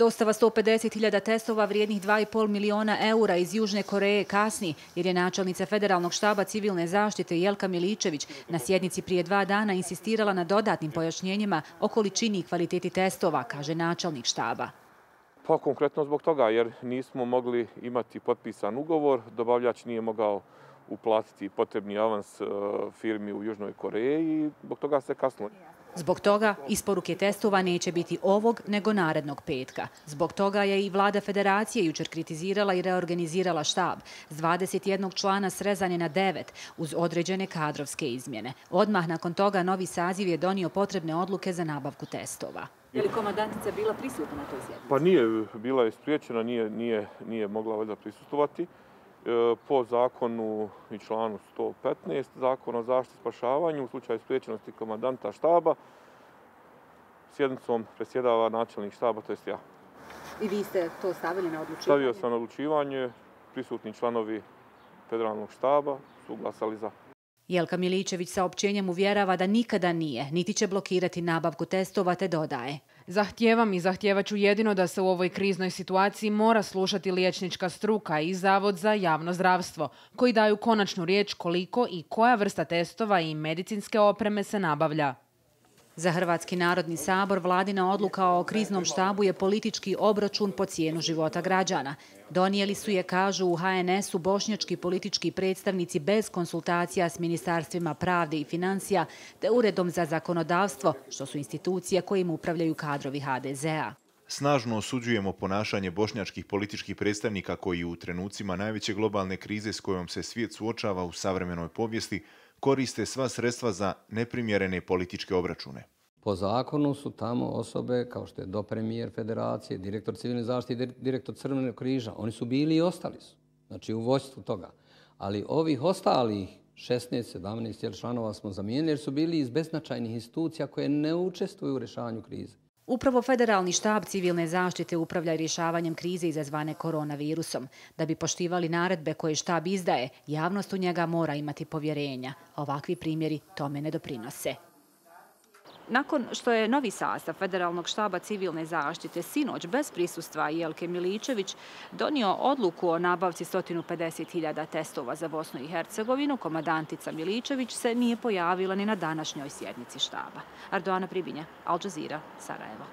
Dostava 150.000 testova vrijednih 2,5 miliona eura iz Južne Koreje kasni, jer je načelnica Federalnog štaba civilne zaštite Jelka Miličević na sjednici prije 2 dana insistirala na dodatnim pojašnjenjima o količini i kvaliteti testova, kaže načelnik štaba. Pa konkretno zbog toga, jer nismo mogli imati potpisan ugovor, dobavljač nije mogao uplatiti potrebni avans firmi u Južnoj Koreji i zbog toga se kasnilo. Zbog toga isporuke testova neće biti ovog nego narednog petka. Zbog toga je i vlada federacije jučer kritizirala i reorganizirala štab. S 21 člana srezan je na 9 uz određene kadrovske izmjene. Odmah nakon toga novi saziv je donio potrebne odluke za nabavku testova. Je li komandantica bila prisutna na toj sjednici? Pa nije, bila je spriječena, nije mogla valjda prisustvovati. Po zakonu i članu 115 Zakona o zaštiti i spašavanju u slučaju spriječenosti komandanta štaba sjednicom predsjedava načelnik štaba, to jest ja. I vi ste to stavili na odlučivanje? Stavio sam na odlučivanje, prisutni članovi Federalnog štaba su glasali za. Jelka Miličević saopćenjem uvjerava da nikada nije, niti će blokirati nabavku testova, te dodaje: Zahtijevam i zahtijevaću jedino da se u ovoj kriznoj situaciji mora slušati liječnička struka i Zavod za javno zdravstvo, koji daju konačnu riječ koliko i koja vrsta testova i medicinske opreme se nabavlja. Za Hrvatski narodni sabor vladina odluka o kriznom štabu je politički obračun po cijenu života građana. Donijeli su je, kažu u HNS-u, bošnjački politički predstavnici bez konsultacija s ministarstvima pravde i financija te Uredom za zakonodavstvo, što su institucije kojim upravljaju kadrovi HDZ-a. Snažno osuđujemo ponašanje bošnjačkih političkih predstavnika koji u trenucima najveće globalne krize s kojom se svijet suočava u savremenoj povijesti koriste sva sredstva za neprimjerene političke obračune. Po zakonu su tamo osobe kao što je dopremijer federacije, direktor civilne zaštite i direktor Crvenog križa. Oni su bili i ostali su, znači u vodstvu toga. Ali ovih ostalih 16, 17 članova smo zamijenili jer su bili iz beznačajnih institucija koje ne učestvuju u rješavanju krize. Upravo Federalni štab civilne zaštite upravlja rješavanjem krize izazvane koronavirusom. Da bi poštivali naredbe koje štab izdaje, javnost u njega mora imati povjerenja. Ovakvi primjeri tome ne doprinose. Nakon što je novi sastav Federalnog štaba civilne zaštite sinoć bez prisustva Jelke Miličević donio odluku o nabavci 150.000 testova za Bosnu i Hercegovinu, komandantica Miličević se nije pojavila ni na današnjoj sjednici štaba. Ardoana Pribinja, Al Jazeera, Sarajevo.